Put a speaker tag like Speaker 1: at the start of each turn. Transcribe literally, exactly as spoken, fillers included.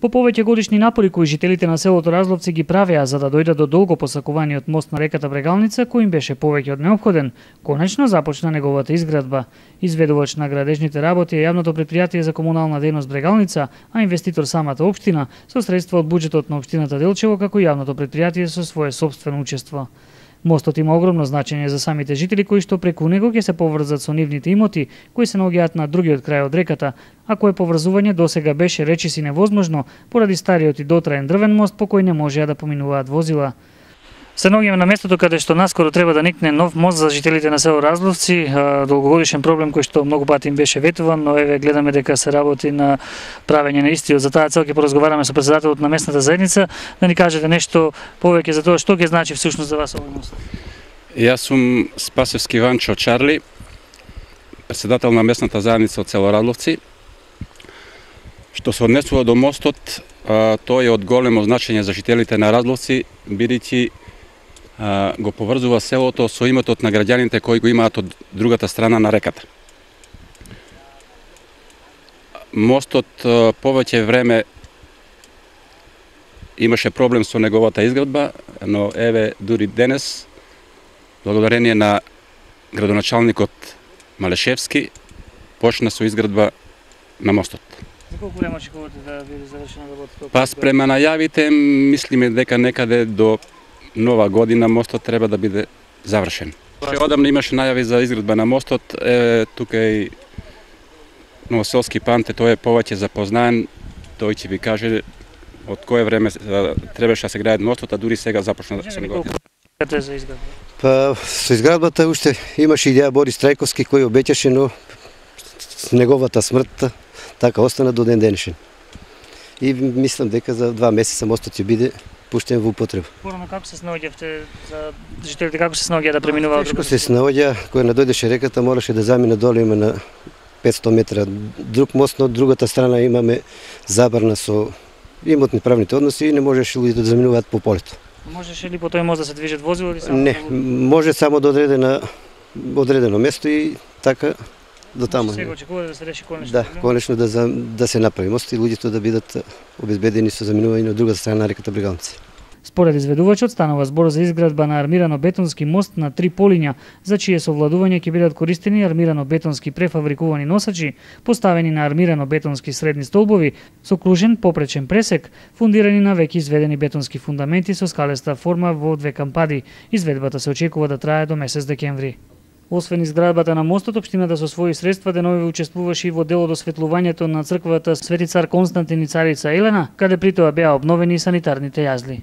Speaker 1: По повеќе годишни напори кои жителите на селото Разловци ги правеа за да дојдат до долго посакуваниот мост на реката Брегалница, кој им беше повеќе од неопходен, конечно започна неговата изградба. Изведувач на градежните работи е јавното претпријатие за комунална дејност Брегалница, а инвеститор самата општина со средства од буџетот на општината Делчево како јавното претпријатие со свое сопствено учество. Мостот има огромно значење за самите жители кои што преку него ќе се поврзат со нивните имоти кои се наоѓаат на другиот крај од реката, а кое поврзување досега беше речиси невозможно поради стариот и дотраен дрвен мост по кој не можеа да поминуваат возила. Се наоѓаме на местото каде што наскоро треба да никне нов мост за жителите на село Разловци, долгогодишен проблем кој што многу пати им беше ветуван, но еве гледаме дека се работи на правење на истиот. За таа цел ќе поразговараме со претседателот на местната заедница да ни кажете нешто повеќе за тоа што ќе значи всушност за вас овој мост.
Speaker 2: Јас сум Спасевски Ванчо Чарли, претседател на местната заедница од село Разловци. Што се однесува до мостот, тој е од големо значење за жителите на Разловци, бидејќи го поврзува селото со имотот на граѓаните кои го имаат од другата страна на реката. Мостот повеќе време имаше проблем со неговата изградба, но еве дури денес, благодарение на градоначалникот Малешевски, почна со изградба на мостот.
Speaker 1: За колку време очекувате да биде завршена работата?
Speaker 2: Па спрема најавите, мислиме дека некаде до нова година мостот треба да биде завршен. Одамна имаше најави за изградба на мостот, е, тука и Новоселски Панте, тој е повеќе запознаен, тој ќе ви каже од кое време требаше да се гради мостот, а дури сега започна да се негови.
Speaker 1: За изградба?
Speaker 3: Па со изградбата уште имаше идеја Борис Трајковски кој обеќаше, но неговата смрт така остана до ден денешен. И мислам дека за два месеца мостот ќе биде пуштен во употреба.
Speaker 1: Порано како се снаоѓавте за жителите, како се снаоѓа да преминуваат?
Speaker 3: Тешко се снаоѓа, кога надојдеше реката мораше да замине доле, има на петстотини метра друг мост, но од другата страна имаме забрана со имотни правните односи и не можеше луѓето да заминуваат по полето.
Speaker 1: Можеше ли по тој мост да се движат возила или само?
Speaker 3: Не, може само до одредена одредено место и така до таму.
Speaker 1: Сега очекува да се реши конечно.
Speaker 3: Да, конечно да за, да се направи мост и луѓето да бидат обезбедени со заминување од другата страна на реката Брегалница.
Speaker 1: Според изведувачот станува збор за изградба на армирано-бетонски мост на три полиња, за чие совладување ќе бидат користени армирано-бетонски префабрикувани носачи, поставени на армирано-бетонски средни столбови со кружен попречен пресек, фундирани на веќе изведени бетонски фундаменти со скалеста форма во две кампади. Изведбата се очекува да трае до месец декември. Освен изградбата на мостот, општината со своји средства деновиве учествуваше и во делот осветлувањето на црквата Свети цар Константин и царица Елена, каде при тоа беа обновени санитарните јазли.